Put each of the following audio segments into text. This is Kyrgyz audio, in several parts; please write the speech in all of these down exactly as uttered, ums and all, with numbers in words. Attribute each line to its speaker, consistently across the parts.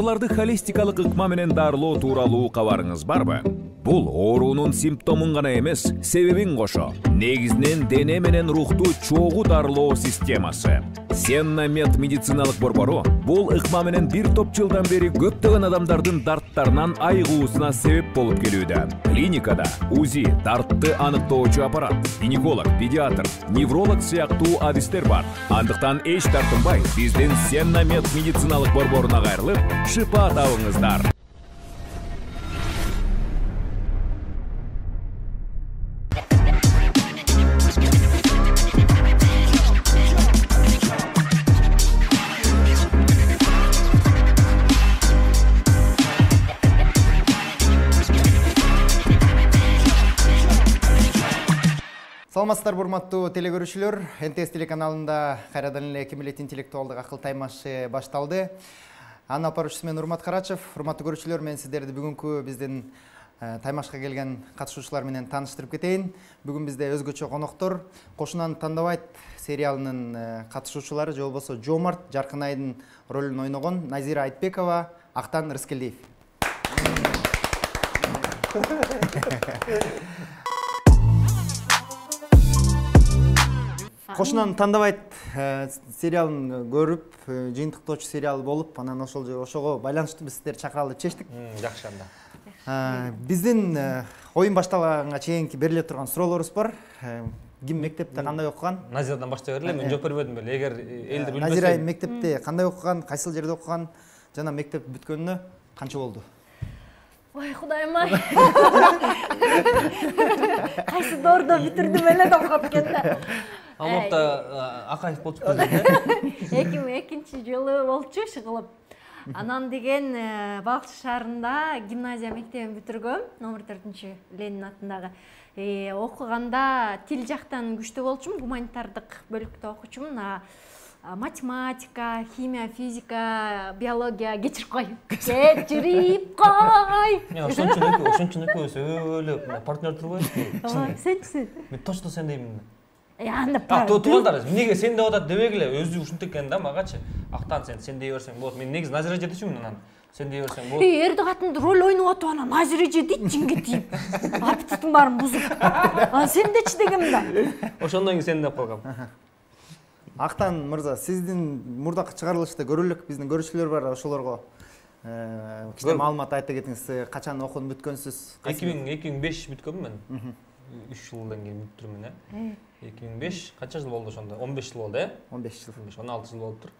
Speaker 1: ооруларды холистикалык ыкма менен дарылоо тууралуу кабарыңыз барбы? Бул оорунун симптомун гана эмес, себебин кошо. Негизинен дене менен рухту чогуу дарылоо системасы. Сенна Мед медициналык борбору бул ыкма менен бир топ жылдан бери көптөгөн адамдардын дарттарынан айыгуусуна себеп болуп келүүдө. Клиникада УЗИ, дартты аныктоочу аппарат, гинеколог, педиатр, невролог сыяктуу адистер бар. Андыктан эч тартынбай, биздин Сенна Мед медициналык борборуна кайрылып, шыпа табыңыздар.
Speaker 2: Саламатсыздар, урматтуу телегөрүүчүлөр. эн тэ эс телеканалында кайрадан эле ким билет интеллектуалдык акыл таймашы башталды. Аны апаруучусу мен Урмат Карачев. Урматтуу көрүүчүлөр, мен сиздерди бүгүнкү биздин таймашка келген катышуучулар менен тааныштырып кетейин. Бүгүн бизде өзгөчө коноктор. Кошунаны тандабайт сериалынын катышуучулары, же болбосо Жомарт Жаркынайдын ролун ойногон Назира Айтбекова, Актан Рыскелдиев. Кошунаны тандабайт сериалын көрүп, жыйынтыктоочу сериал болуп, анан ошол ошого байланыштуу биз сиздерди чакыралы деп чечтик.
Speaker 3: Жакшы анда.
Speaker 2: Биздин оюн башталганга чейинки бериле турган суроолорубуз бар. Ким мектепте кандай окуган?
Speaker 3: Назирадан баштай берели, мен жооп бербедим беле. Эгер элдер билбесе.
Speaker 2: Назира мектепте кандай окуган, кайсыл жерде окуган, жана мектеп бүткөнүнө канча болду?
Speaker 4: Ой, Кудайым ай. Кайсы доордо бүтүрдүм эле деп калып
Speaker 3: Алматта Акаев болуп чыкты.
Speaker 4: эки миң экинчи жылы болчу иши Анан деген Балыкчы шаарында гимназия мектебин бүтүргөм, номер төртүнчү Ленин атындагы. Окуганда тил жактан күчтүү болчумун, гуманитардык бөлүктө окучумун. Математика, химия, физика, биология кечирип кой. Кечирип кой.
Speaker 3: Ошончун ошончун экөөбүз өлө партнер турбайбызбы?
Speaker 4: Сенчи?
Speaker 3: Мен точно сен деймин.
Speaker 4: Анда
Speaker 3: А, туугандар, эмнеге сен деп атат дебегиле, өзү ушинтип экен да, магачы. Актан сен сен дей берсең болот. Мен негизи Назира жетичимин анан. Сен дей берсең болот.
Speaker 4: Эй, эрди катын роль ойноп атып анан Назира жетит жиңгетип. Аппетитим баарын бузуп. А сен дечи дегем да.
Speaker 3: Ошондон кийин сен деп калгам.
Speaker 2: Актан мырза, сиздин мурдакы чыгарылышта көрөлүк, биздин көрүүчүлөр бар, ошолорго кичине маалымат айта кетиңиз. Качан окууну бүткөнсүз?
Speaker 3: эки миң беш бүткөнмүн мен. үч жылдан кийин бүттүрмүн, э. эки миң беш канча жыл болду ошондо? он беш жыл болду, э?
Speaker 2: он беш жыл.
Speaker 3: он алты жыл болуптур.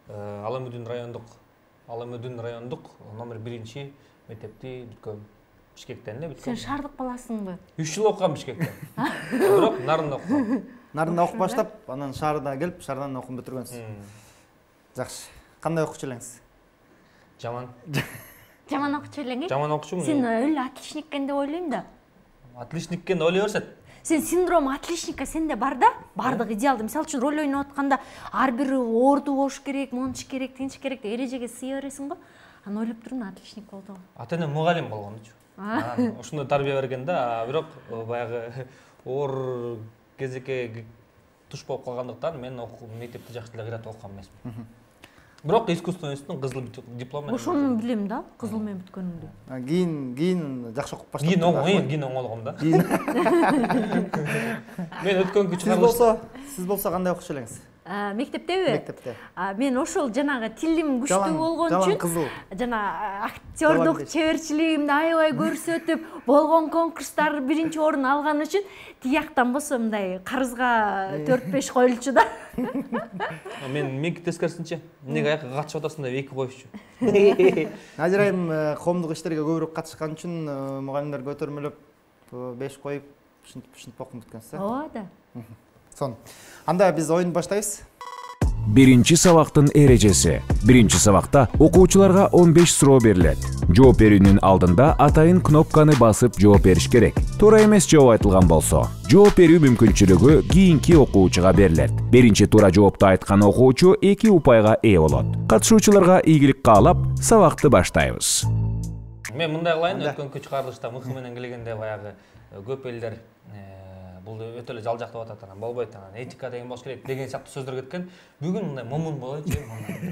Speaker 3: Аламүдүн райондук, Аламүдүн райондук номер биринчи мектепти бүткөм. Бишкектен эле бүткөм.
Speaker 4: Сен шаардык баласыңбы?
Speaker 3: үч жыл окугам Бишкекте. Бирок Нарында окугам.
Speaker 2: Нарында окуп баштап, анан шаарда келип, шаардан окуп бүтүргөнсүз. Жакшы. Кандай окуучу элеңиз?
Speaker 3: Жаман.
Speaker 4: Жаман окуучу элең?
Speaker 3: Жаман окуучумун.
Speaker 4: Сен өлө отличник экен деп ойлойм да.
Speaker 3: Отличник экен деп ойлой берсет.
Speaker 4: Сен синдром отличника сенде бар да? Бардык идеалды. Мисалы үчүн роль ойноп атканда ар бири орду болуш керек, мончу керек, тинчи керек деп эрежеге сыя бересиң го. Аны ойлоп турмун, отличник болду.
Speaker 3: Ата-энем мугалим болгончу. Анан ошондой тарбия берген да, бирок баягы оор кезекке туш болуп калгандыктан мен мектепти жакшы эле кыйратып окуган эмесмин. Бирок искусство институтунун кызыл диплому менен.
Speaker 4: Ошону билем да, кызыл менен бүткөнүмдү.
Speaker 2: Кийин кийин жакшы окуп баштадым.
Speaker 3: Кийин оңой, кийин оңолгом да. Мен өткөнкү
Speaker 2: чыгарылыш. Сиз болсо, сиз болсо кандай окуучу элеңиз?
Speaker 4: Мектептеби?
Speaker 2: Мектепте.
Speaker 4: Мен ошол жанагы тилим күчтүү болгон үчүн, жана актёрдук чеберчилигимди аябай көрсөтүп, болгон конкурстар биринчи орун алган үчүн тияктан болсо мындай карызга төрт беш коюлчу да.
Speaker 3: Мен меники тескерисинче, эмнеге аякка катышып атасың деп эки коюшчу.
Speaker 2: Назира айым коомдук иштерге көбүрөөк катышкан үчүн мугалимдер көтөрмөлөп беш коюп, ушинтип ушинтип окуп бүткөнсүз, э?
Speaker 4: Ооба да.
Speaker 2: Сон. Анда биз оюнду баштайбыз.
Speaker 1: Биринчи сабактын эрежеси. Биринчи сабакта окуучуларга он беш суроо берилет. Жооп берүүнүн алдында атайын кнопканы басып жооп бериш керек. Туура эмес жооп айтылган болсо, жооп берүү мүмкүнчүлүгү кийинки окуучуга берилет. Биринчи туура жоопту айткан окуучу эки упайга ээ болот. Катышуучуларга ийгилик каалап, сабакты баштайбыз.
Speaker 3: Мен мындай кылайын, өткөнкү чыгарылышта мыкы менен келгенде баягы көп элдер бул өтө эле жалжактап атат, анан болбойт, анан этика деген болуш керек деген сыяктуу сөздөр кеткен. Бүгүн мындай момун болоючу,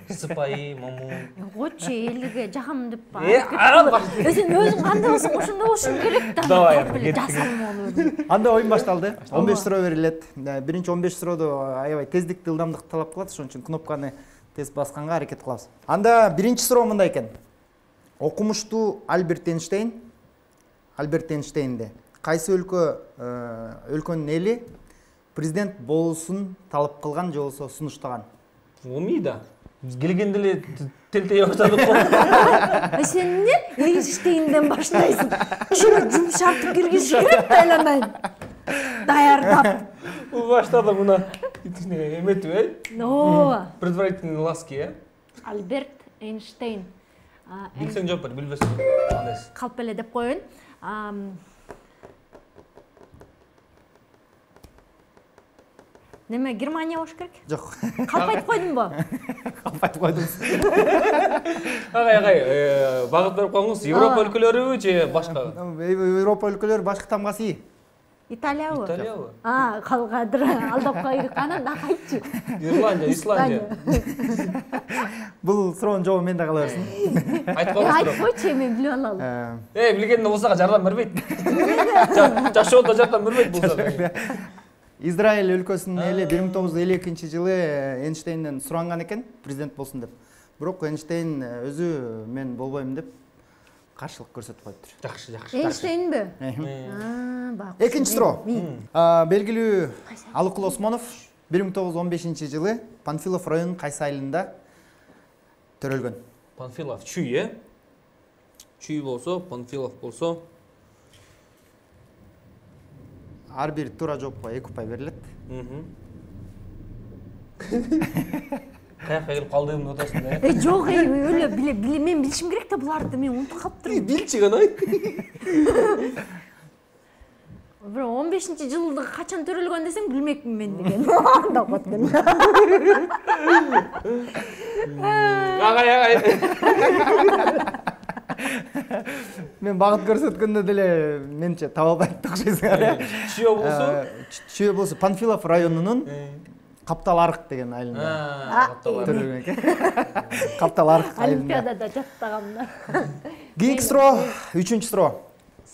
Speaker 3: сыпайы, момун.
Speaker 4: Койчу, элге жагам деп ба.
Speaker 3: Өзүң
Speaker 4: өзүң кандай болсоң ошондой болушуң керек да.
Speaker 3: Давай,
Speaker 4: жасалмалуу.
Speaker 2: Анда оюн башталды. он беш суроо берилет. Биринчи он беш суроодо аябай тездикти, ылдамдыкты талап кылат, ошон үчүн кнопканы тез басканга аракет кылабыз. Анда биринчи суроо мындай экен. Окумуштуу Альберт Эйнштейн, Альберт Эйнштейнди кайсы өлкө өлкөнүн эли президент болуусун талап кылган же болбосо сунуштаган?
Speaker 3: Умида. Биз келгенде эле телтей баштадык го.
Speaker 4: Сен эмне Эйнштейнден баштайсың? Ушуну жумшартып киргизиш керек да айланайын. Даярдап.
Speaker 3: Баштадым мына. Эметип, э?
Speaker 4: Ооба.
Speaker 3: Предварительные ласки, э?
Speaker 4: Альберт Эйнштейн.
Speaker 3: Билсең жооп бер, билбесең кандайсың?
Speaker 4: Калп эле деп коеюн. Неме, Германия болуш керек?
Speaker 2: Жок.
Speaker 4: Калп айтып койдумбу?
Speaker 2: Калп айтып койдуңуз.
Speaker 3: Агай, агай, багыт берип коюңуз. Европа өлкөлөрүбү же башка?
Speaker 2: Европа өлкөлөрү башкы тамгасы ии.
Speaker 4: Италиябы?
Speaker 3: Италиябы?
Speaker 4: А, калгадыр. Алдап койдук. Анан да кайтчу.
Speaker 3: Ирландия, Исландия.
Speaker 2: Бул суроонун жообун мен да кала берсин.
Speaker 3: Айтып коюңуз.
Speaker 4: Айтып койчу, мен билип алалы.
Speaker 3: Эй, билгенде болсо жардам бербейт. Жашоодо жардам бербейт болсо.
Speaker 2: Израиль өлкөсүнүн эли бир миң тогуз жүз элүү экинчи жылы Эйнштейнден суранган экен, президент болсун деп. Бирок Эйнштейн өзү мен болбойм деп каршылык көрсөтүп коюптур.
Speaker 3: Жакшы, жакшы.
Speaker 4: Эйнштейнби?
Speaker 2: Аа, бак. Экинчи суроо. Белгилүү Алыкул Осмонов бир миң тогуз жүз он бешинчи жылы Панфилов районунун кайсы айылында төрөлгөн?
Speaker 3: Панфилов Чүй, э? Чүй болсо, Панфилов болсо.
Speaker 2: Ар бир туура жоопко эки упай берилет.
Speaker 3: Каяка келип калдыгымды атасың да,
Speaker 4: э? Жок, өлө биле, биле, мен билишим керек да буларды, мен унутуп калыптырмын.
Speaker 3: Билчи гана.
Speaker 4: Бир он бешинчи жылды качан төрөлгөн десең билмекмин мен деген. Анда кеткен.
Speaker 3: Агай, агай.
Speaker 2: Мен багыт көрсөткөндө деле менче таба албайт окшойсуңар, э?
Speaker 3: Чүй болсо?
Speaker 2: Чүй болсо Панфилов районунун Каптал Арык деген айылында төрөлгөн экен. Каптал Арык айылында.
Speaker 4: Олимпиадада жаттаганмын.
Speaker 2: Кийинки суроо, үчүнчү суроо.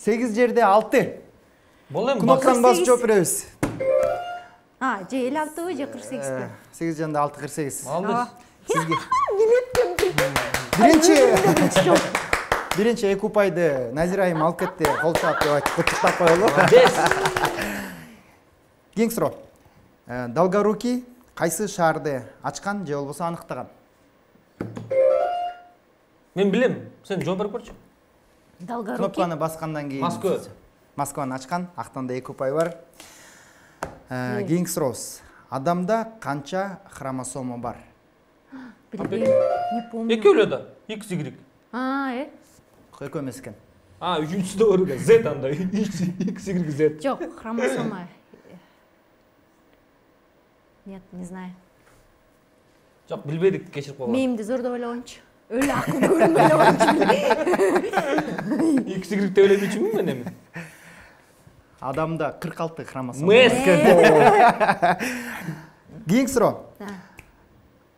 Speaker 2: сегиз жерде алты.
Speaker 3: Болду эми.
Speaker 2: Кнопканы басып жооп беребиз.
Speaker 4: А, же элүү алтыбы же кырк сегизби?
Speaker 2: сегиз жанда алты кырк сегиз.
Speaker 3: Алдыз.
Speaker 2: Сизге.
Speaker 4: Билеттим.
Speaker 2: Биринчи Биринчи эки упайды Назира айым алып кетти. Кол чаап деп айтып куттуктап коелу. Кийинки суроо. Долгорукий кайсы шаарды ачкан же болбосо аныктаган?
Speaker 3: Мен билем. Сен жооп берип көрчү.
Speaker 4: Долгорукий.
Speaker 2: Кнопканы баскандан кийин
Speaker 3: Москва.
Speaker 2: Москваны ачкан, актанда эки упай бар. Кийинки сурообуз. Адамда канча хромосома бар?
Speaker 4: Билбейм, не помню.
Speaker 3: Экөө эле да. X Y.
Speaker 4: А, э?
Speaker 2: Экөө эмес экен.
Speaker 3: А, үчүнчүсү да бар экен. Z анда. X Y Z.
Speaker 4: Жок, хромосома. Нет, не знаю.
Speaker 3: Жок, билбедик, кечирип койгула.
Speaker 4: Мейимди зордоп ойлогончу. Өлө акыл көрүнбөй ойлогончу.
Speaker 3: X Y деп ойлойбучумун мен эми.
Speaker 2: Адамда кырк алты хромосома. Кийинки суроо.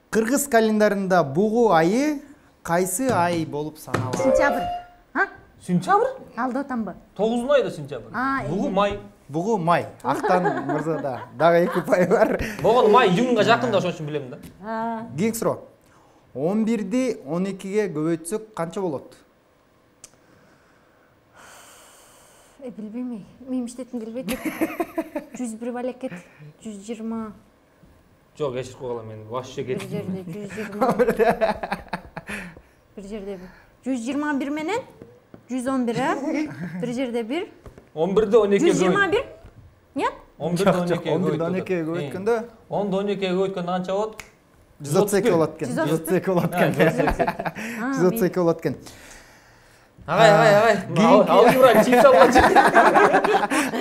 Speaker 2: Кыргыз календарында бугу айы кайсы ай болуп саналат?
Speaker 4: Сентябрь. А?
Speaker 3: Сентябрь?
Speaker 4: Алдап атамбы?
Speaker 3: тогузунчу айда сентябрь. Бугу май.
Speaker 2: Бугу май. Актан мырзада дагы эки упай бар.
Speaker 3: Болгону май июнга жакын да, ошон үчүн билем да.
Speaker 2: Кийинки суроо. он бирди он экиге көбөйтсөк канча болот?
Speaker 4: Э, билбейм. Мен иштетим келбейт. жүз бир балекет, жүз жыйырма.
Speaker 3: Жок, кечирип койгула, мен вообще
Speaker 4: Бир
Speaker 3: кетип.
Speaker 4: жерде жүз жыйырма. Бир жерде жүз жыйырма бир менен жүз он бир, а? Бир жерде бир.
Speaker 3: он бирди он экиге.
Speaker 4: жүз жыйырма бир? Нет?
Speaker 3: он бирди он экиге.
Speaker 2: он бирди он экиге көбөйткөндө
Speaker 3: онду он экиге көбөйткөндө канча болот?
Speaker 2: жүз отуз эки болот экен. жүз отуз эки болот экен. жүз отуз эки болот экен.
Speaker 3: Агай, агай, агай. Алгебра чип салгачы.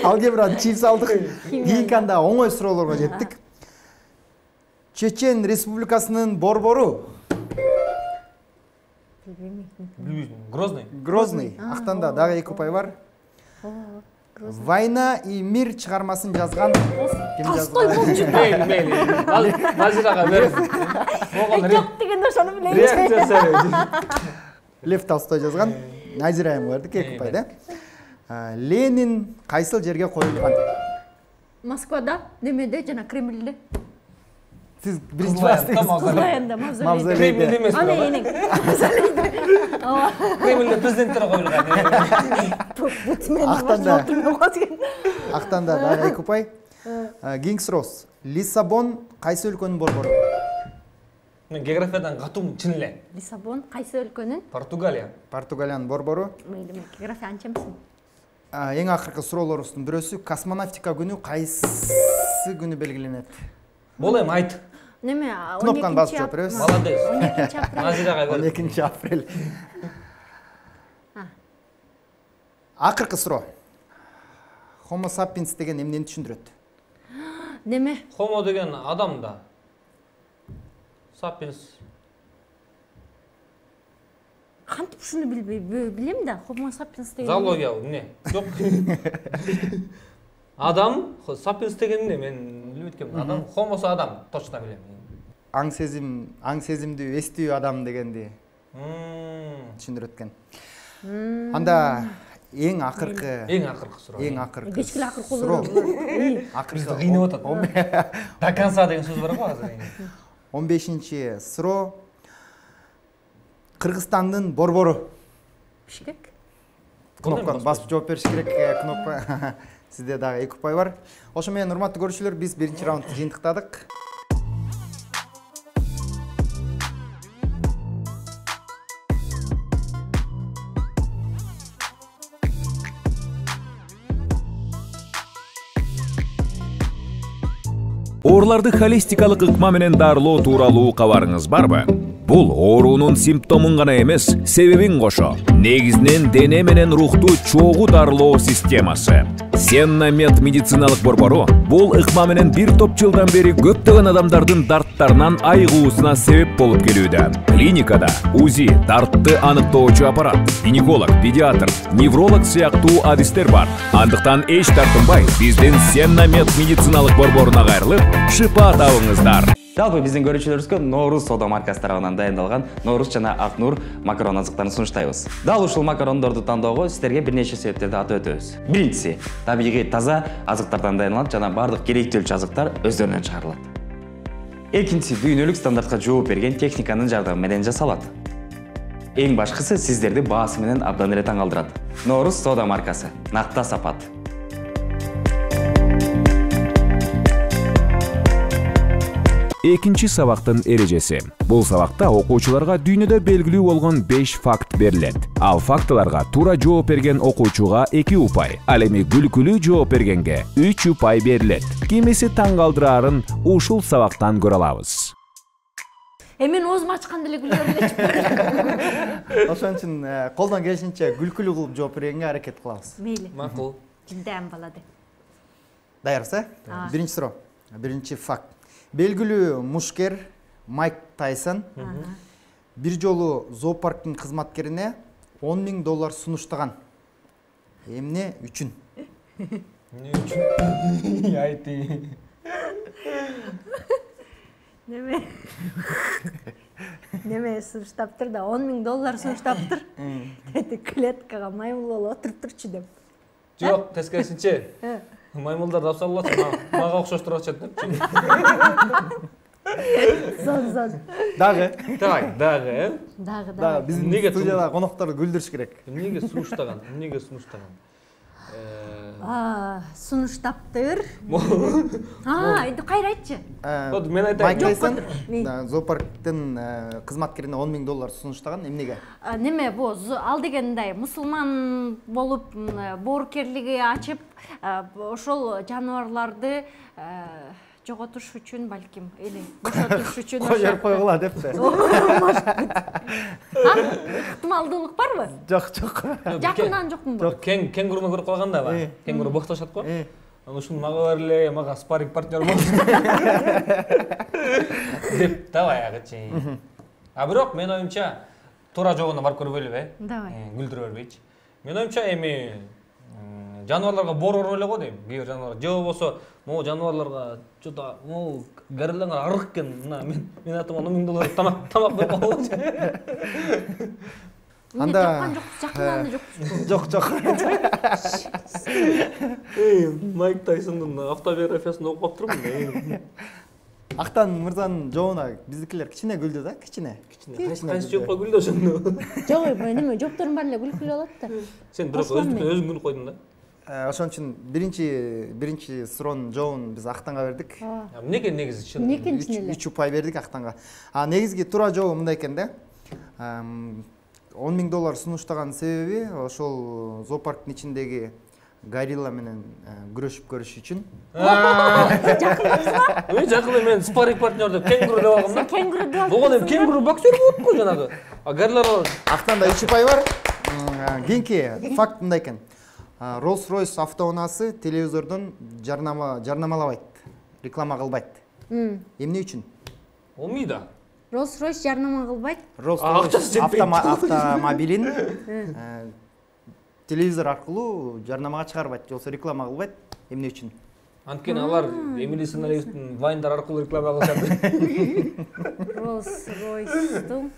Speaker 2: Алгебра чип салдык. Кийинки анда оңой суроолорго жеттик. Чечен Республикасынын борбору?
Speaker 4: Билбейм.
Speaker 3: Билбейсиң. Грозный.
Speaker 2: Грозный. Актанда дагы эки упай бар. Война и мир чыгармасын жазган ким
Speaker 4: Толстой болчу.
Speaker 3: Мейли, мейли. Ал Назирага бер. Могон
Speaker 4: Жок дегенде ошону билейин.
Speaker 3: реакциясы.
Speaker 2: Лев Толстой жазган. Назира Эмгердик эки упай да. Ленин кайсыл жерге коюлган?
Speaker 4: Москвада, немеде жана Кремльде.
Speaker 2: Сиз биринчи бастыңыз.
Speaker 4: Кызылайында мавзолейде.
Speaker 3: Кремльде эмес
Speaker 4: Ана
Speaker 3: бирок.
Speaker 4: энең. Мавзолейде. Ооба.
Speaker 3: Кремльде президенттер коюлган.
Speaker 2: Актанда. Актанда дагы эки упай. Кингс Росс. Лиссабон кайсы өлкөнүн борбору?
Speaker 3: Мен географиядан катуу чын эле.
Speaker 4: Лиссабон кайсы өлкөнүн?
Speaker 3: Португалия.
Speaker 2: Португалиянын борбору.
Speaker 4: Мейли, мен география анча эмесмин.
Speaker 2: Эң акыркы суроолорубуздун бирөөсү космонавтика күнү кайсы күнү белгиленет?
Speaker 3: Болем айт.
Speaker 4: Неме?
Speaker 2: Кнопканы басып жооп беребиз.
Speaker 3: Молодец.
Speaker 4: он экинчи апрель.
Speaker 3: Назирага
Speaker 2: он
Speaker 3: бер.
Speaker 2: экинчи апрель. Акыркы суроо. Homo sapiens деген эмнени түшүндүрөт?
Speaker 4: Неме?
Speaker 3: Homo деген адам да. Sapiens.
Speaker 4: Кантип ушуну билбей билем да, Homo sapiens деген.
Speaker 3: Зоология эмне? Жок. Адам, Sapiens деген эмне? Мен билбейт экенмин. Адам, Homo адам, точно билем.
Speaker 2: Аң сезим, аң сезимдүү, эстүү адам дегенди
Speaker 3: Мм.
Speaker 2: түшүндүрөт экен. Анда эң акыркы
Speaker 3: Эң акыркы суроо.
Speaker 2: эң акыркы
Speaker 4: Кечкиле акыркы
Speaker 2: суроо.
Speaker 3: Бизди
Speaker 2: Акыркы
Speaker 3: кыйнап атат. До конца деген сөз бар го азыр.
Speaker 2: он бешинчи суроо. Кыргызстандын борбору.
Speaker 4: Бишкек.
Speaker 2: Кнопканы басып жооп бериш керек. Кнопка. Сизде дагы эки упай бар. Ошо менен урматтуу көрүүчүлөр, биз биринчи раундду жыйынтыктадык.
Speaker 1: Ооруларды холистикалык ыкма менен дарылоо тууралуу кабарыңыз барбы? Бул оорунун симптомун гана эмес, себебин кошо. Негизинен дене менен рухту чогуу дарылоо системасы. Сеннамед медициналык борбору бул ыкма менен бир топ жылдан бери көптөгөн адамдардын дарттарынан айыгуусуна себеп болуп келүүдө. Клиникада УЗИ, дартты аныктоочу аппарат, гинеколог, педиатр, невролог сыяктуу адистер бар. Андыктан эч тартынбай, биздин Сеннамед медициналык борборуна кайрылып, шыпа табыңыздар.
Speaker 5: Жалпы биздин көрүүчүлөрүбүзгө Nooruz соода маркасы тарабынан дайындалган Nooruz жана Ак Нур макарон азыктарын сунуштайбыз. Дал ушул макарондорду тандоого сиздерге бир нече себептерди атап өтөбүз. Биринчиси, табигый таза азыктардан дайындалат жана бардык керектүүлчү азыктар өздөрүнөн чыгарылат. Экинчиси, дүйнөлүк стандартка жооп берген техниканын жардамы менен жасалат. Эң башкысы, сиздерди баасы менен абдан эле таң калтырат. Nooruz соода маркасы, накта сапат.
Speaker 1: Экинчи сабактын эрежеси. Бул сабакта окуучуларга дүйнөдө белгилүү болгон беш факт берилет. Ал фактыларга туура жооп берген окуучуга эки упай, ал эми күлкүлүү жооп бергенге үч упай берилет. Кимиси таң калтырарын ушул сабактан көрө алабыз.
Speaker 4: Эмен оозуму ачканда эле күлө элечи.
Speaker 2: Ошон үчүн колдон келишинче күлкүлүү кылып жооп бергенге аракет кылабыз.
Speaker 4: Мейли.
Speaker 3: Макул.
Speaker 4: Жилдем балады.
Speaker 2: Даярсыз? Биринчи суроо. Биринчи факт. Белгилүү мушкер Майк Тайсон бир жолу зоопарктын кызматкерине он миң доллар сунуштаган. Эмне үчүн?
Speaker 3: Эмне үчүн? Айти.
Speaker 4: Неме? Неме сунуштаптыр да он миң доллар сунуштаптыр. Деди клеткага маймыл болуп отуруптурчу деп.
Speaker 3: Жок, тескерисинче. Маймылдар да абсаллат, мага окшоштуруп атышат деп.
Speaker 4: Зон, зон.
Speaker 2: Дагы.
Speaker 3: Так, дагы, э?
Speaker 4: Дагы,
Speaker 2: Дагы
Speaker 4: дагы.
Speaker 2: биздин
Speaker 3: Эмнеге
Speaker 2: студияда конокторду күлдүрүш керек.
Speaker 3: Эмнеге сунуштаган? Эмнеге сунуштаган?
Speaker 4: А, сунуштаптыр. А, эndi кайра айтчы.
Speaker 3: Вот мен айтайын.
Speaker 2: Майк Тайсон
Speaker 4: Мен.
Speaker 2: зоопарктын кызматкерине он миң доллар сунуштаган. Эмнеге?
Speaker 4: Неме бу ал дегендей мусулман болуп боорукерлиги ачып ошол жаныбарларды жоготуш үчүн балким или бошотуш үчүн
Speaker 2: Коёр койгула депти.
Speaker 4: Ыктымалдуулук барбы?
Speaker 2: Жок, жок.
Speaker 4: Жакындан жокмунбу?
Speaker 3: Жок, кен кенгуруну көрүп калганда ба? Кенгуру боктошот го. Анан ушуну мага берле, мага спарринг партнер бол. Деп да баягычы. А бирок мен оюмча туура жогуна барып көрбөйлүбү, э?
Speaker 4: Давай.
Speaker 3: Күлдүрө бербейчи. Мен оюмча эми жаныбарларга боор эле го дейм. Кээ бир жаныбар же болбосо могу жаныбарларга что-то могу гориллаңар арык экен. Мына мен мен атам он миң доллар тамак тамак берип койгончу.
Speaker 4: Анда тапкан жокпуз, жакындаган жокпуз.
Speaker 2: Жок, жок.
Speaker 3: Эй, Майк Тайсондун автобиографиясын окуп турмун.
Speaker 2: Актан мырзанын жообуна биздикилер кичине күлдү да, кичине.
Speaker 3: Кайсы жокко күлдү ошондо.
Speaker 4: Жок, неме, жооптордун баары эле күлкүлүү болот да.
Speaker 3: Сен бирок өзүң күлүп койдуң да.
Speaker 2: Ошон үчүн биринчи биринчи суроонун жообун биз Актанга бердик.
Speaker 3: Эмнеге негизи чын?
Speaker 4: Экинчисин эле.
Speaker 2: үч упай бердик Актанга. А негизги туура жообу мындай экен да. он миң доллар сунуштаган себеби ошол зоопарктын ичиндеги горилла менен күрөшүп көрүш үчүн.
Speaker 4: Жакындапсызбы?
Speaker 3: Ой, жакында мен спарринг партнер деп кенгуру деп алгам да.
Speaker 4: Кенгуру деп алып.
Speaker 3: Болгон эми кенгуру боксер болот го жанагы. А гориллар
Speaker 2: Актанда үч упай бар. Кийинки факт мындай экен. Rolls-Royce автоунаасы телевизордон жарнама жарнамалабайт, реклама кылбайт. Эмне үчүн?
Speaker 3: Олмойда.
Speaker 4: Rolls-Royce жарнама кылбайт.
Speaker 2: Rolls-Royce автомобилин телевизор аркылуу жарнамага чыгарбайт, же болбосо реклама кылбайт. Эмне үчүн?
Speaker 3: Анткени алар Эмили Сценаристин вайндар аркылуу реклама кылышат.
Speaker 4: Rolls-Royce'тун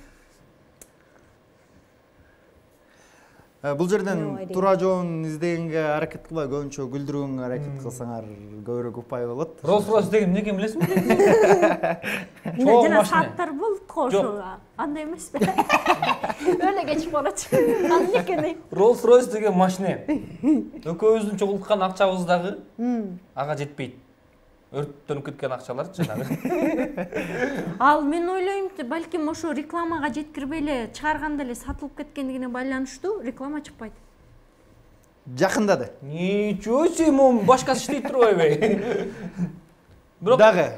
Speaker 2: Бул жерден туура жообун издегенге аракет кылбай, көбүнчө күлдүрүүгө аракет кылсаңар көбүрөөк упай болот.
Speaker 3: Rolls-Royce деген эмнеге билесиңби?
Speaker 4: Жана сааттар болот го ошол. Андай эмеспи? Өлө кечип барат. Аны экени.
Speaker 3: Rolls-Royce деген машина. Экөөбүздүн чогулткан акчабыздагы ага жетпейт. Өрттөнүп кеткен акчалар жанагы.
Speaker 4: Ал мен ойлойм, балким ошо рекламага жеткирбей эле чыгарганда эле сатылып кеткендигине байланыштуу реклама чыкпайт.
Speaker 2: Жакындады.
Speaker 3: Ничего себе, мом башкасы иштей турбайбы? Бирок
Speaker 2: дагы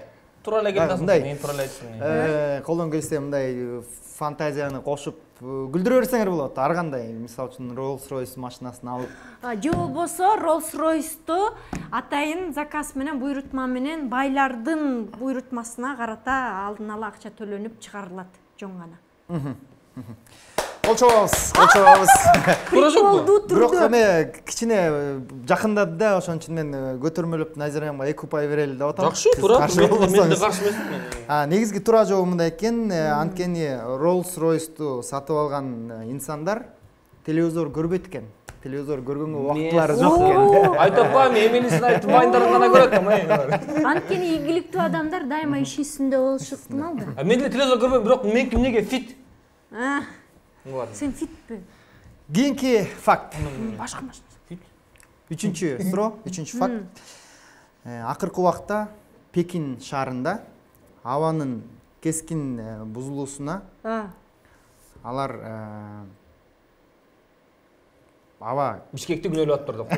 Speaker 3: туура эле келдиң, мен туура эле айттым.
Speaker 2: Э, колдон келсе мындай фантазияны кошуп күлдүрө берсеңер болот. Ар кандай, мисалы үчүн Rolls-Royce машинасын алып,
Speaker 4: же болбосо Rolls-Royce'ту атайын заказ менен буйрутма менен байлардын буйрутмасына карата алдын ала акча төлөнүп чыгарылат жон гана.
Speaker 2: Колчобуз, колчобуз.
Speaker 3: Туура жокпу?
Speaker 2: Бирок эме кичине жакындады да, ошон үчүн мен көтөрмөлөп Назирамга эки упай берели деп атам.
Speaker 3: Жакшы, туура. Мен да каршы эмесмин.
Speaker 2: А, негизги туура жообу мындай экен, анткени Rolls-Royce'ту сатып алган инсандар телевизор көрбөйт экен. Телевизор көргөнгө убактылары жок экен.
Speaker 3: Айтып коем, Эмилисин айтып вайндарын гана көрөт да.
Speaker 4: Анткени ийгиликтүү адамдар дайыма иш үстүндө болушу ыктымал да.
Speaker 3: Мен деле телевизор көрбөйм, бирок меники эмнеге фит?
Speaker 4: Сен фитпи?
Speaker 2: Кийинки факт.
Speaker 4: Башка машина.
Speaker 2: Үчүнчү суроо, үчүнчү факт. Акыркы убакта Пекин шаарында абанын кескин бузулуусуна алар аба
Speaker 3: Бишкекти күнөөлөп атыптыр деп.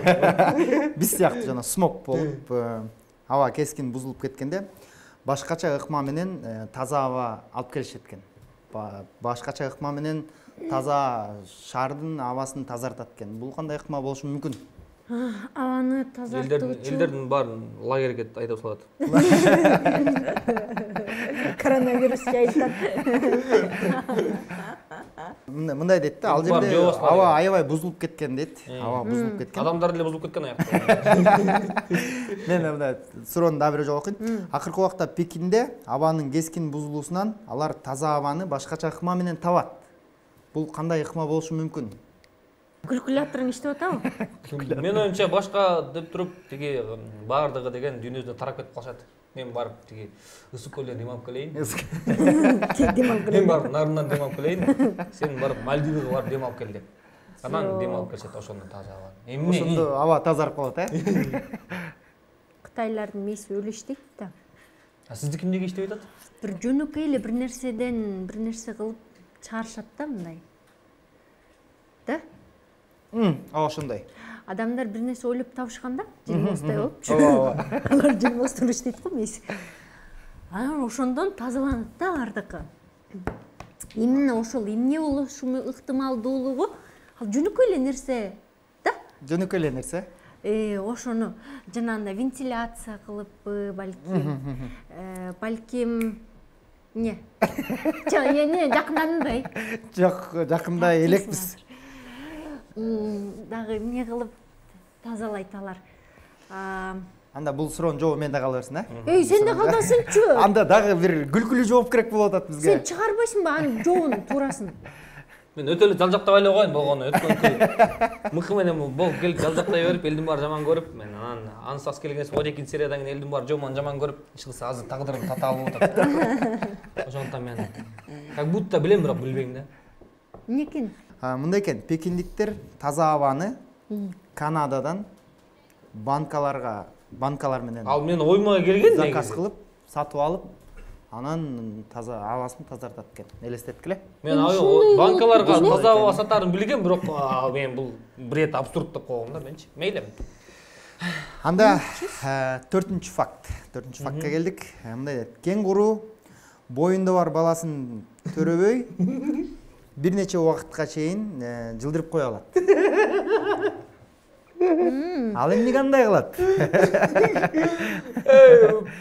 Speaker 2: Биз сыяктуу жана смог болуп, аба кескин бузулуп кеткенде башкача ыкма менен таза аба алып келишет экен. Башкача ыкма менен таза шаардын абасын тазартат экен. Бул кандай ыкма болушу мүмкүн?
Speaker 4: Абаны тазартуучу
Speaker 3: Элдердин баарын лагерге айдап салат.
Speaker 4: Коронавирус жайылтат.
Speaker 2: Мындай дейт да, ал жерде аба аябай бузулуп кеткен дейт. Аба бузулуп кеткен.
Speaker 3: Адамдар деле бузулуп кеткен аякта.
Speaker 2: Мен мындай суроону дагы бир жолу окуйм. Акыркы убакта Пекинде абанын кескин бузулуусунан алар таза абаны башкача ыкма менен табат. Бул кандай ыкма болушу мүмкүн?
Speaker 4: Калькуляторун иштеп атабы?
Speaker 3: Мен оюмча башка деп туруп тиги баардыгы деген дүйнөдөн тарап кетип калышат. Мен барып тиги ысык көлдөн дем алып келейин.
Speaker 4: Дем алып
Speaker 3: Мен барып нарынан дем алып келейин. Сен барып Мальдивага барып дем алып кел деп. Анан дем алып келишет ошондо таза аба. Эмне?
Speaker 2: Ошондо аба тазарып калат, э?
Speaker 4: Кытайлардын мээси өлү иштейт да.
Speaker 3: А сиздики эмнеге иштебей атат?
Speaker 4: Бир жөнөкөй эле бир нерседен бир нерсе кылып чыгарышат да мындай. Да?
Speaker 2: Ооба ошондой.
Speaker 4: Адамдар бир нерсе ойлоп табышканда, жылмостой болуп. Ооба. Алар жылмостон иштейт го мээси. Анан ошондон тазаланат да бардыгы. Именно ошол эмне болушу ыктымалдуулугу ал жөнөкөй эле нерсе, да?
Speaker 2: Жөнөкөй эле нерсе.
Speaker 4: Э, ошону жанагындай вентиляция кылыппы, балким. Э, балким не? Жок, не, жакындадымбы?
Speaker 2: Жок, жакындай элекпиз.
Speaker 4: Дагы эмне кылып тазалайт алар.
Speaker 2: Анда бул суроонун жообу менде кала берсин, э?
Speaker 4: Эй, сен да калбасыңчы.
Speaker 2: Анда дагы бир күлкүлүү жооп керек болуп атат бизге.
Speaker 4: Сен чыгарбайсыңбы анын жообун туурасын?
Speaker 3: Мен өтө эле жалжактай эле коеюн болгону. Өткөнкү мыкы менен болуп келип жалжактай берип, элдин баары жаман көрүп, мен анан ансыз келгенс он экинчи сериядан кийин элдин баары жомон жаман көрүп, чыкса азыр тагдырым татаал болуп атат. Ошондуктан мен как будто билем, бирок билбейм да.
Speaker 4: Эмне экен?
Speaker 2: Мындай экен, пекиндиктер таза абаны Канададан банкаларга, банкалар менен
Speaker 3: Ал мен ойма келген
Speaker 2: заказ кылып, сатып алып, анан таза абасын тазартат экен. Элестеткиле.
Speaker 3: Мен банкаларга таза аба сатарын билгем, бирок мен бул бред абсурд деп койгом да менчи. Мейли.
Speaker 2: Анда төртүнчү факт. Төртүнчү фактка келдик. Мындай дейт. Кенгуру боюнда бар баласын төрөбөй бир нече убакытка чейин жылдырып кое алат. Ал эмне кандай кылат?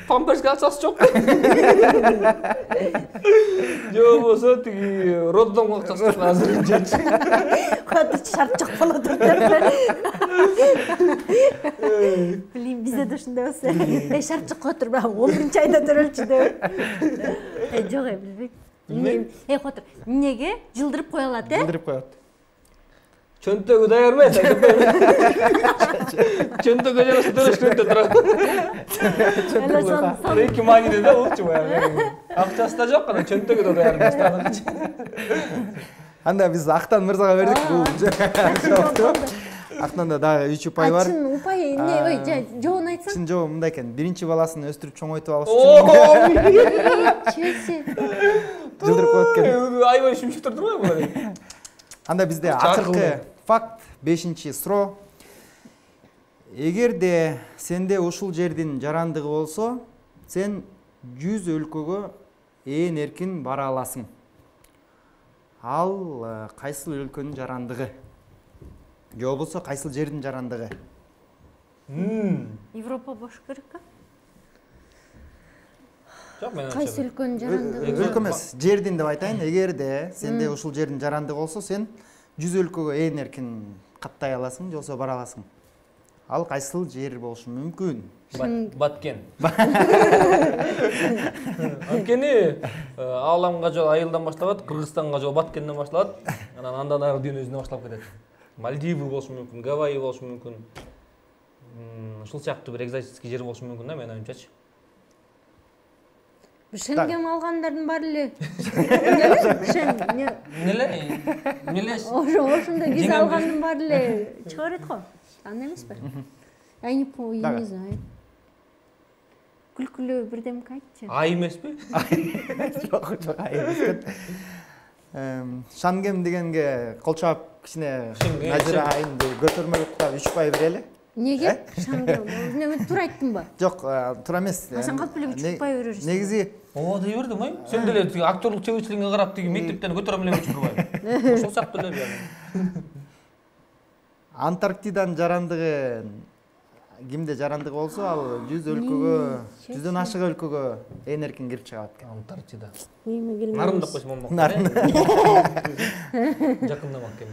Speaker 3: Памперске акчасы жок. Же болбосо тиги роддомго акчасы жок азыр.
Speaker 4: Кадыр шарт жок болот деп. Билем, бизде да ушундай болсо. Эй, шарт жок отур, бирок он биринчи айда төрөлчү деп. Эй, жок, билбейм. Эмне? Эй, отур. Эмнеге жылдырып кое алат, э?
Speaker 2: Жылдырып коет.
Speaker 3: Чөнтөгү даяр эмес. Чөнтөгү жарасы төрөшкөндө турат. Чөнтөгү эки маниде да болчу баягы. Акчасы да жок, анан чөнтөгү да даяр эмес.
Speaker 2: Анда биз Актан мырзага бердик бул жоопту. Актанда дагы үч упай бар.
Speaker 4: Чын упай эмне? Ой, жообун айтсаң.
Speaker 2: Чын жообу мындай экен. Биринчи баласын өстүрүп чоңойтуп алыш үчүн.
Speaker 4: Чеси.
Speaker 2: Жылдырып коет экен.
Speaker 3: Айбай шимшип турдур го булар.
Speaker 2: Анда бизде акыркы факт, бешинчи суроо. Эгерде сенде ушул жердин жарандыгы болсо, сен жүз өлкөгө ээн эркин бара аласың. Ал кайсыл өлкөнүн жарандыгы? Же болбосо кайсыл жердин жарандыгы?
Speaker 4: Европа болуш керек а?
Speaker 3: Жок, мен
Speaker 4: Кайсы өлкөнүн жарандыгы?
Speaker 2: Өлкө эмес, жердин деп айтайын. Эгерде сенде ушул жердин жарандыгы болсо, сен жүз өлкөгө ээн эркин каттай аласың, же болбосо бара аласың. Ал кайсыл жер болушу мүмкүн?
Speaker 3: Баткен. Анткени Ааламга жол Айылдан башталат, Кыргызстанга жол Баткенден башталат, анан андан ары дүйнө өзүнө башталып кетет. Мальдивы болушу мүмкүн, Гавайи болушу мүмкүн. Ушул сыяктуу бир экзотический жер болушу мүмкүн да, менин оюмчачы.
Speaker 4: Шенген алгандардын баары эле. Эмнеле?
Speaker 3: Эмнеле? Эмнеле?
Speaker 4: Ошондой виза алгандын баары эле чыга берет го. Андай эмеспи? Я не помню, не знаю. Күлкүлүү бирдемке айтчы.
Speaker 3: Ай эмеспи?
Speaker 2: Жок, жок, ай эмес. Шангем дегенге кол чаап кичине Назира айынды көтөрмөлөк да үч пай берели.
Speaker 4: Неге? Шангем. Эмне туура айттымбы?
Speaker 2: Жок, туура эмес.
Speaker 4: Сен калп эле үч пай берерсиң.
Speaker 2: Негизи
Speaker 3: Ооба дей бердим, ой. Сен деле актерлук чеберчилигиңе карап тиги мектептен көтөрөм эле турбайбы? Ошол сыяктуу эле бияга.
Speaker 2: Антарктиданын жарандыгы кимде жарандыгы болсо, ал жүз өлкөгө, жүздөн ашык өлкөгө ээн эркин кирип чыгат экен.
Speaker 3: Антарктида.
Speaker 4: Эми келмей.
Speaker 3: Нарын деп койсом болмок.
Speaker 2: Нарын.
Speaker 3: Жакындамак экен.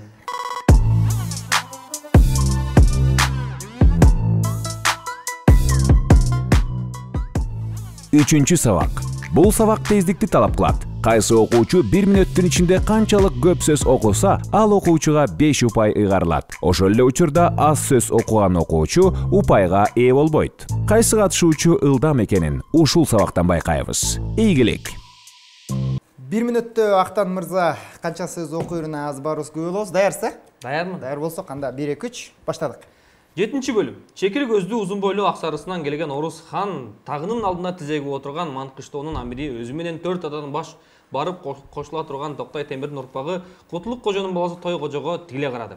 Speaker 1: Үчүнчү сабак. Бул сабак тездикти талап кылат. Кайсы окуучу бир мүнөттүн ичинде канчалык көп сөз окуса, ал окуучуга беш упай ыйгарылат. Ошол эле учурда аз сөз окуган окуучу упайга ээ болбойт. Кайсы катышуучу ылдам экенин ушул сабактан байкайбыз. Ийгилик.
Speaker 2: бир мүнөттө Актан мырза канча сөз окуюуна аз барыбыз күбө болобуз. Даярсыз?
Speaker 3: Даярмын.
Speaker 2: Даяр болсок, анда бир эки үч баштадык.
Speaker 3: жетинчи бөлүм. Чекир көздүү узун бойлуу ак сарысынан келген Орус хан тагынын алдына тизегип отырган Манкыштоонун амири өзү менен төрт атадан баш барып кошула турган Токтой Темирдин урпагы Кутулук кожонун баласы Тойкожого тигиле карады.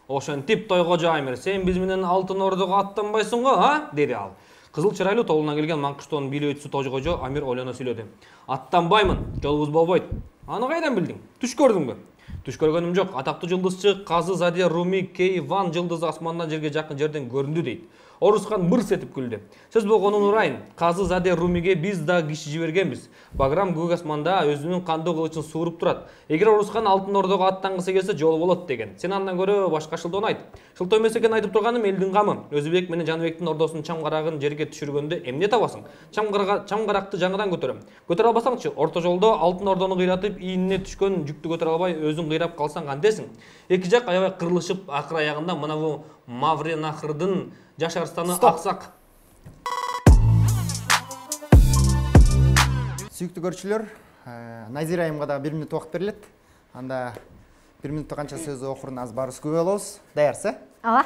Speaker 3: Ошентип Тойкожо Амир, сен биз менен Алтын Ордого аттанбайсың го, а? Деди ал. Кызыл чырайлуу тобуна келген Манкыштоонун бийлөөчүсү Тойкожо Амир ойлоно сүйлөдү. Аттанбаймын, жолубуз болбойт. Аны кайдан билдиң? Түш көрдүңбү? Түш көргөнүм жок. Атактуу жылдызчы Казы Задия Руми Кейван жылдызы асмандан жерге жакын жерден көрүндү дейт. Орусхан мырс этип күлдү. Сөз болгонун урайын, Казы Заде Румиге биз да киши жибергенбиз. Баграм көк асманда өзүнүн кандуу кылычын сууруп турат. Эгер Орусхан Алтын Ордого аттангысы келсе жол болот деген. Сен андан көрө башка шылтоону айт. Шылтоо эмес экен айтып турганым элдин камы. Өзүбек менен Жаныбектин ордосунун чамгарагын жерге түшүргөндө эмне табасың? Чамгарга чамгаракты жаңыдан көтөрөм. Көтөрө албасаңчы, орто жолдо Алтын Ордону кыйратып, ийине түшкөн жүктү көтөрө албай өзүң кыйрап калсаң кантесиң? Эки жак аябай кырылышып, акыр аягында мына бу Мавренахрдын жашарстаны аксак.
Speaker 2: Сүйүктүү көрүүчүлөр, Назира айымга да бир мүнөт убакыт берилет. Анда бир мүнөттө канча сөз окурун аз барыбыз күбө болобуз. Даярсыз?
Speaker 4: Ооба.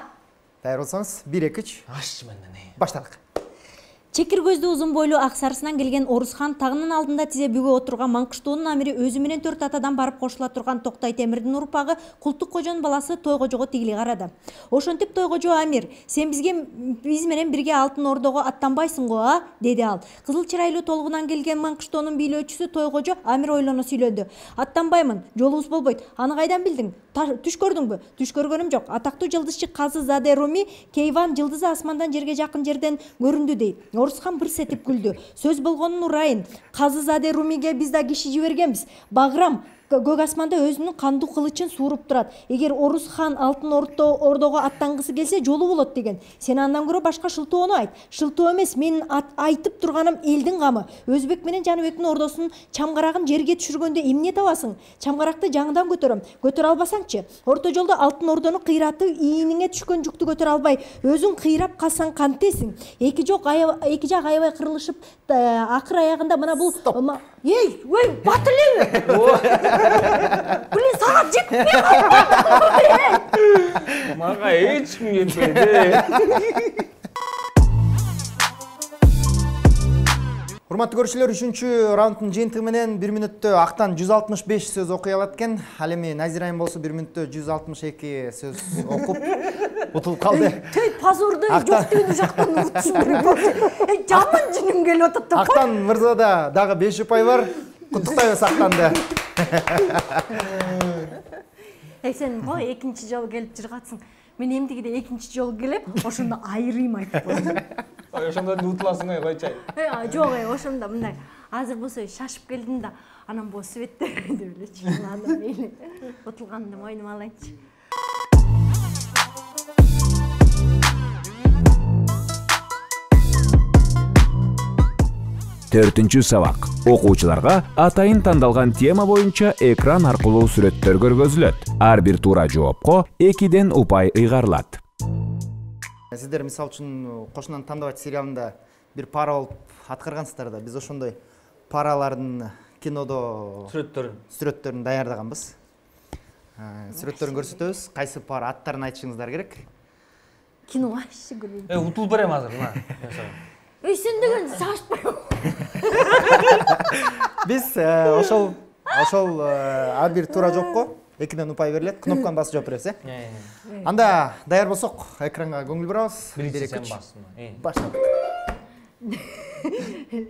Speaker 2: Даяр болсоңуз бир эки үч
Speaker 3: Аш менден.
Speaker 2: баштадык.
Speaker 6: Чекир көздүү узун бойлуу ак сарысынан келген Орусхан тагынын алдында тизе бүгө отурган Маңкыштоонун амири өзү менен төрт атадан барып кошула турган Токтай Темирдин урпагы Култук кожонун баласы Тойгожого тигили карады. Ошентип Тойгожо амир, сен бизге биз менен бирге Алтын Ордого аттанбайсың го, а? Деди ал. Кызыл чырайлуу толгунан келген Маңкыштоонун бийлөөчүсү Тойгожо амир ойлоно сүйлөдү. Аттанбаймын, жолубуз болбойт. Аны кайдан билдиң? Түш көрдүңбү? Түш көргөнүм жок. Атактуу жылдызчы Казы Заде Руми Кейван жылдызы асмандан жерге жакын жерден көрүндү дейт. Орусхан бырс этип күлдү. Сөз болгонун урайын, Казы Заде Румиге биз да киши жибергенбиз. Баграм көк асманда өзүнүн кандуу кылычын сууруп турат. Эгер Орусхан Алтын Ордого аттангысы келсе жолу болот деген. Сен андан көрө башка шылтоону айт. Шылтоо эмес, мен айтып турганым элдин камы. Өзбек менен Жаныбектин ордосунун чамгарагын жерге түшүргөндө эмне табасың? Чамгаракты жаңыдан көтөрөм. Көтөрө албасаңчы, орто жолдо Алтын Ордону кыйратып, ийиниңе түшкөн жүктү көтөрө албай, өзүң кыйрап калсаң кантесиң? Эки жок эки жак аябай кырылышып, акыр аягында мына бул Эй, ой, батылы! Блин, саат жетпей калды.
Speaker 3: Мага эч ким жетпейди.
Speaker 2: Урматтуу көрүүчүлөр, үчүнчү раунддун жыйынтыгы менен бир мүнөттө актан жүз алтымыш беш сөз окуй алат экен. Ал эми Назира айым болсо бир мүнөттө жүз алтымыш эки сөз окуп утулуп калды.
Speaker 4: Төй пазурду жок деген жактан утушум керек. Жаман жиним келип атат.
Speaker 2: Актан мырзада дагы беш упай бар. Куттуктайбыз Актанды.
Speaker 4: Эй, сен бой экинчи жолу келип жыргатсың. Мен эмдигиде экинчи жолу келип, ошондо айрыйм айтып коем.
Speaker 3: Ошондо утуласың ай койчай.
Speaker 4: Э, жок, ошондо мындай. Азыр болсо шашып келдим да, анан бу светте деп элечи. Анан мейли утулганды мойнума алайынчы.
Speaker 1: Төртүнчү сабак. Окуучуларга атайын тандалган тема боюнча экран аркылуу сүрөттөр көргөзүлөт. Ар бир туура жоопко экиден упай ыйгарылат.
Speaker 2: Сиздер мисалы үчүн Кошунан тандабайт сериалында бир пара болуп аткаргансыздар да. Биз ошондой паралардын кинодо
Speaker 3: сүрөттөрүн
Speaker 2: сүрөттөрүн даярдаганбыз. Сүрөттөрүн көрсөтөбүз. Кайсы пара аттарын айтышыңыздар керек.
Speaker 4: Кино вообще көрбөйм.
Speaker 3: Э, утулуп берем азыр, мына.
Speaker 4: Эй, сен деген шашпайбы?
Speaker 2: Биз ошол ошол ар бир туура жоопко экиден упай берилет. Кнопканы басып жооп беребиз, э? Анда даяр болсок, экранга көңүл бурабыз.
Speaker 3: Биринчи сен бассын.
Speaker 2: Баштадык.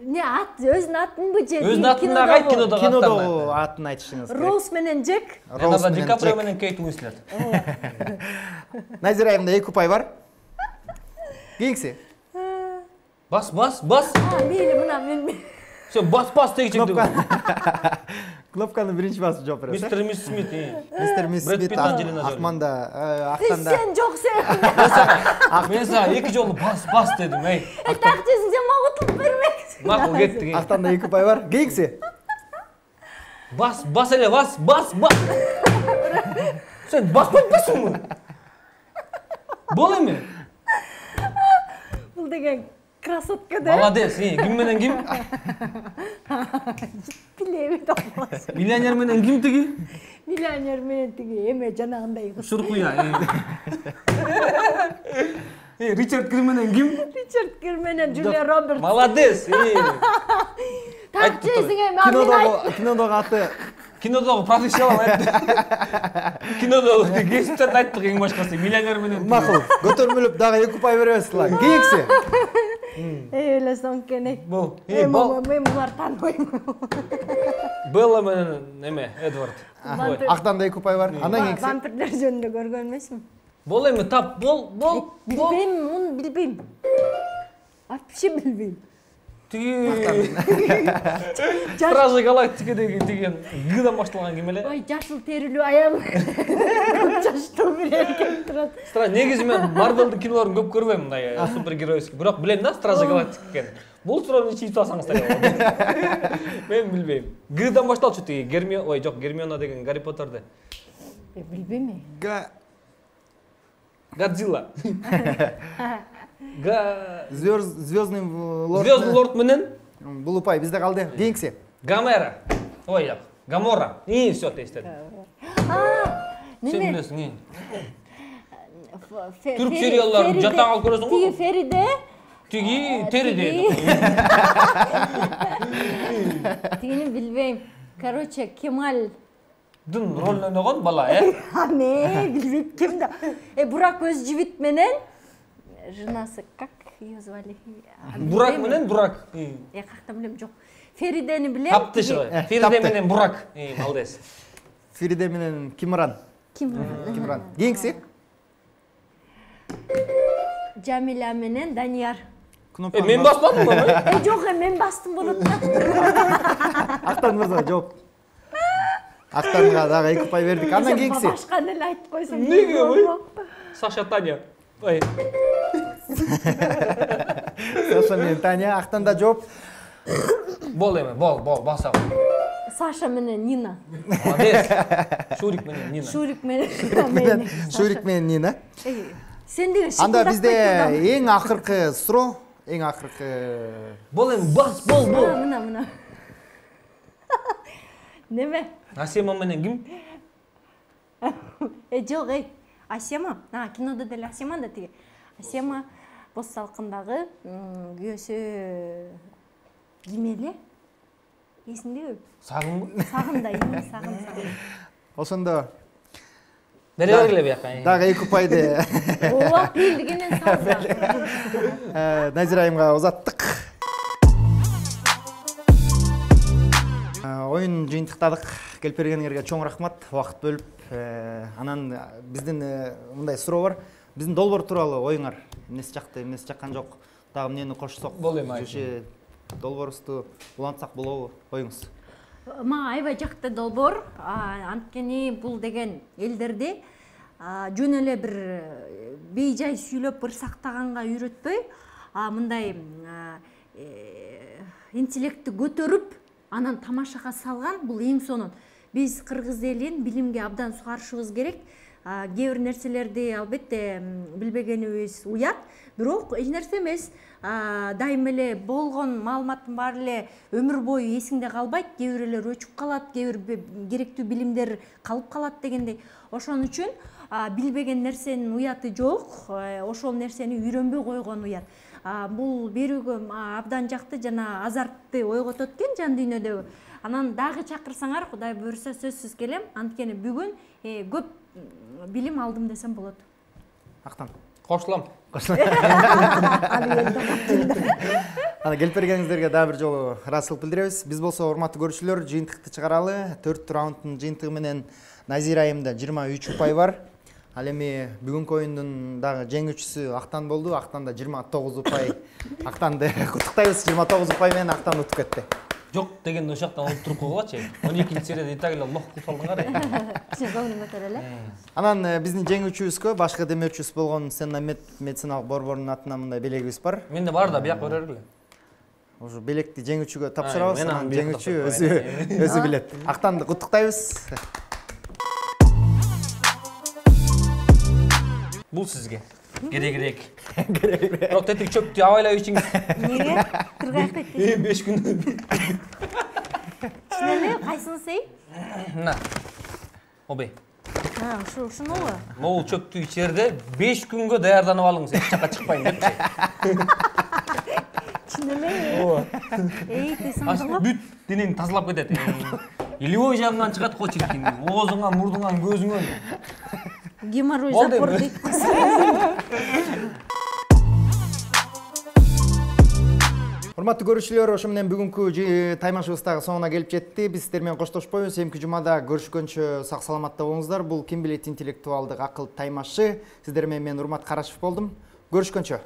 Speaker 4: Не ат, өзүнүн атын же?
Speaker 3: Өзүнүн атын да айт, кинодогу атын.
Speaker 2: Кинодогу атын айтышыңыз керек.
Speaker 4: Роуз менен Джек.
Speaker 3: Леонардо Ди Каприо менен Кейт Уинслет.
Speaker 2: Назира айымда эки упай бар. Кийинкиси.
Speaker 3: Бас, бас, бас.
Speaker 4: А, мейли, мына мен.
Speaker 3: Все, бас, бас дегичек.
Speaker 2: Кнопканы биринчи басып жооп беребиз.
Speaker 3: Мистер Мисс Смит.
Speaker 2: Мистер Мисс Смит Акманда, Актанда.
Speaker 4: Сен жок сен.
Speaker 3: Мен сага эки жолу бас, бас дедим, эй.
Speaker 4: Тактесиң, сен мага утулуп бермексиң.
Speaker 3: Макул кетти.
Speaker 2: Актанда эки упай бар. Кийинкиси.
Speaker 3: Бас, бас эле, бас, бас, бас. Сен баспай атпайсыңбы? Бол эми.
Speaker 4: Бул деген красотка да.
Speaker 3: Молодец, ким менен ким?
Speaker 4: Билебейт албас.
Speaker 3: Миллионер менен ким тиги?
Speaker 4: Миллионер менен тиги эме жанагындай кыз.
Speaker 3: Шуркуя. Э, Ричард Гир менен ким?
Speaker 4: Ричард Гир менен Джулия Робертс.
Speaker 3: Молодец.
Speaker 4: Тактесиң эми кинодогу
Speaker 2: кинодогу аты
Speaker 3: кинодогу профессионал айтты. Кинодогу кесиптерди айттык эң башкасы. Миллионер менен.
Speaker 2: Макул. Көтөрмөлүп дагы эки упай беребизла. Кийинкиси.
Speaker 4: Эй, эле соңкене.
Speaker 3: Бул.
Speaker 4: Эй, мен буларды тааныбайм.
Speaker 3: Белла менен эме, Эдвард.
Speaker 2: Актанда эки упай бар. Андан кийинкиси.
Speaker 4: Вампирлер жөнүндө көргөн эмесмин.
Speaker 3: Бол эми тап, бол, бол, бол.
Speaker 4: Билбейм, муну билбейм. Вообще билбейм.
Speaker 3: Тиги Стражи Галактикадеги деген Гдан башталган ким эле?
Speaker 4: Ой, жашыл терилүү аягы. Жаштуу берген турат.
Speaker 3: Страж негизи мен Marvel'дын кинолорун көп көрбөйм, мындай супергеройский. Бирок билем да, Стражи Галактика экенин. Бул суроону чийип алсаңыздар болот. Мен билбейм. Гдан башталчу тиги Гермиона, ой, жок, Гермиона деген Гарри Поттерде.
Speaker 4: Билбейм.
Speaker 2: Га
Speaker 3: Годзилла. Га
Speaker 2: Звездный лорд.
Speaker 3: Звездный лорд менен
Speaker 2: Бул упай бизде калды. Кийинкиси.
Speaker 3: Гамера. Ой, жок. Гамора. И всё тестедим.
Speaker 4: А,
Speaker 3: Сен
Speaker 4: неме?
Speaker 3: билесиң, и.
Speaker 4: Фе-
Speaker 3: Түрк
Speaker 4: Фери-
Speaker 3: сериалдарын
Speaker 4: Фериде-
Speaker 3: жаттан алып көрөсүң го?
Speaker 4: Тиги Фериде.
Speaker 3: Тиги териде.
Speaker 4: Тигини билбейм. Короче, Кемаль.
Speaker 3: Дын ролун ойногон бала, э?
Speaker 4: А не, билбейм ким да. Э, Бурак өз жибит менен жынасы как ее звали?
Speaker 3: Бурак менен Бурак.
Speaker 4: Э, кактан билем, жок. Феридени билем.
Speaker 3: Таптыш.
Speaker 2: Э,
Speaker 3: Фериде
Speaker 2: тапты.
Speaker 3: менен Бурак. И, молодец.
Speaker 2: Фериде менен Кимран.
Speaker 4: Ким?
Speaker 2: Кимран. Кийинкиси.
Speaker 4: Жамиля менен Данияр.
Speaker 3: Э, мен баспадым го.
Speaker 4: Э, жок, э, мен бастым болот да.
Speaker 2: Актан мырза жооп. Актанга дагы эки упай бердик. Андан кийинкиси.
Speaker 4: Башканы эле айтып койсоң.
Speaker 3: Неге, ой? Саша Таня. Ой.
Speaker 2: Саша менен Таня. Актанда жооп.
Speaker 3: Бол эми, бол, бол, баса.
Speaker 4: Саша менен Нина.
Speaker 3: Молодец. Шурик менен Нина.
Speaker 4: Шурик менен Нина.
Speaker 2: Шурик менен Нина.
Speaker 4: Э, Сен деген
Speaker 2: Анда
Speaker 4: шикылдап
Speaker 2: бизде
Speaker 4: койдуң.
Speaker 2: эң акыркы суроо, эң акыркы
Speaker 3: Бол эми, бас, бол, бол.
Speaker 4: Мына, мына. Неме?
Speaker 3: Асема менен ким?
Speaker 4: Э, жок, эй. Асема. А, кинодо деле Асема да тиги. Асема Боз салкындагы күйөөсү ким эле? Эсиңдеби?
Speaker 3: Сагынбы?
Speaker 4: Сагын да, эми сагын, сагын.
Speaker 2: ошондо
Speaker 3: Бере бергиле бияка.
Speaker 2: дагы эки упайды
Speaker 4: Ооба, билдигенен салса.
Speaker 2: Назира айымга узаттык. Оюн жыйынтыктадык. Келип бергениңерге чоң рахмат. Убакыт бөлүп, анан биздин мындай суроо бар. Биздин долбоор тууралуу оюңар эмнеси жакты, эмнеси жаккан жок. Дагы эмнени кошсок,
Speaker 3: Бол эми айчы.
Speaker 2: же долбоорубузду улантсак болобу? Оюңуз.
Speaker 4: Ма аябай жакты долбоор. Анткени бул деген элдерди жөн эле бир бейжай сүйлөп ырсактаганга үйрөтпөй, мындай интеллектти көтөрүп, анан тамашага салган. Бул эң сонун. Биз кыргыз элин билимге абдан сугарышыбыз керек. Кээ бир нерселерди албетте билбегенибиз уят, бирок эч нерсе эмес. Дайым эле болгон маалыматтын баары эле өмүр бою эсиңде калбайт, кээ бирлер өчүп калат, кээ бир керектүү билимдер калып калат дегендей. Ошон үчүн билбеген нерсенин уяты жок, ошол нерсени үйрөнбөй койгон уят. Бул берүүгө абдан жакты, жана азартты ойготот экен жан дүйнөдө. Анан дагы чакырсаңар, Кудай буйруса сөзсүз келем. Анткени бүгүн көп билим алдым десем болот.
Speaker 2: Актан.
Speaker 3: Кошулам.
Speaker 2: Ана келип бергениңиздерге дагы бир жолу ыраазычылык билдиребиз. Биз болсо урматтуу көрүүчүлөр, жыйынтыкты чыгаралы. төрт раунддун жыйынтыгы менен Назира айымда жыйырма үч упай бар. Ал эми бүгүнкү оюндун дагы жеңүүчүсү Актан болду. Актанда жыйырма тогуз упай. Актанды куттуктайбыз. жыйырма тогуз упай менен Актан утуп кетти.
Speaker 3: Жок дегенде ошоктон олуп туруп койгулачы. он экинчи серияда и так эле лох кылып салдыңар.
Speaker 4: Сен көңүлүң көтөрө эле.
Speaker 2: Анан биздин жеңүүчүбүзгө башкы демөөчүбүз болгон Сеннамет медициналык борборунун атынан мындай белегибиз бар.
Speaker 3: Менде бар да, бияка бере бергиле.
Speaker 2: Ошо белекти жеңүүчүгө тапшырабыз.
Speaker 3: мен
Speaker 2: Анан
Speaker 3: аны бияка
Speaker 2: жеңүүчү
Speaker 3: тапшырып
Speaker 2: өзү
Speaker 3: коеюн.
Speaker 2: өзү билет. Актанды куттуктайбыз.
Speaker 3: Бул сизге. Керек-керек. Бирок тетик чөптү абайлап ичиңиз.
Speaker 4: Неге? Кыргайып кетти.
Speaker 3: беш күн.
Speaker 4: Чын эле, кайсыны сей?
Speaker 3: Мына. Обей.
Speaker 4: Ha, ушул ушунубу?
Speaker 3: Могул чөптү ичерде беш күнгө даярданып алыңыз, эч жакка чыкпайын депчи.
Speaker 4: Чын эле?
Speaker 3: Ооба.
Speaker 4: Эй, ты сандыңбы?
Speaker 3: Бүт денени тазалап кетет. Илиой жагынан чыгат го чиркин. Оозуңан, мурдуңан, көзүңөн.
Speaker 4: Геморрой
Speaker 3: Болду
Speaker 4: запор
Speaker 3: эми.
Speaker 4: дейт.
Speaker 2: Урматтуу көрүүчүлөр, ошо менен бүгүнкү таймашыбыз дагы соңуна келип жетти. Биз сиздер менен коштошпойбуз. Эмки жумада көрүшкөнчө сак саламатта болуңуздар. Бул ким билет интеллектуалдык акыл таймашы. Сиздер менен мен Урмат Карачев болдум. Көрүшкөнчө.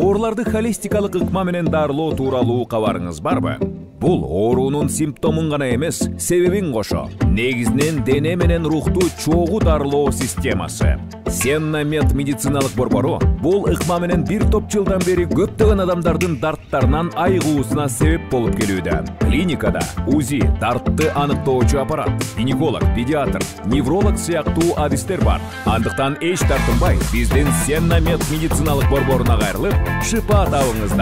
Speaker 1: Ооруларды холистикалык ыкма менен дарылоо тууралуу кабарыңыз барбы? Бул оорунун симптомун гана эмес, себебин кошо, негизинен дене менен рухту чогуу дарылоо системасы. Сенна Мед медициналык борбору бул ыкма менен бир топ жылдан бери көптөгөн адамдардын дарттарынан айыгуусуна себеп болуп келүүдө. Клиникада УЗИ, дартты аныктоочу аппарат, гинеколог, педиатр, невролог сыяктуу адистер бар. Андыктан эч тартынбай, биздин Сенна Мед медициналык борборуна кайрылып, шыпа табыңыздар.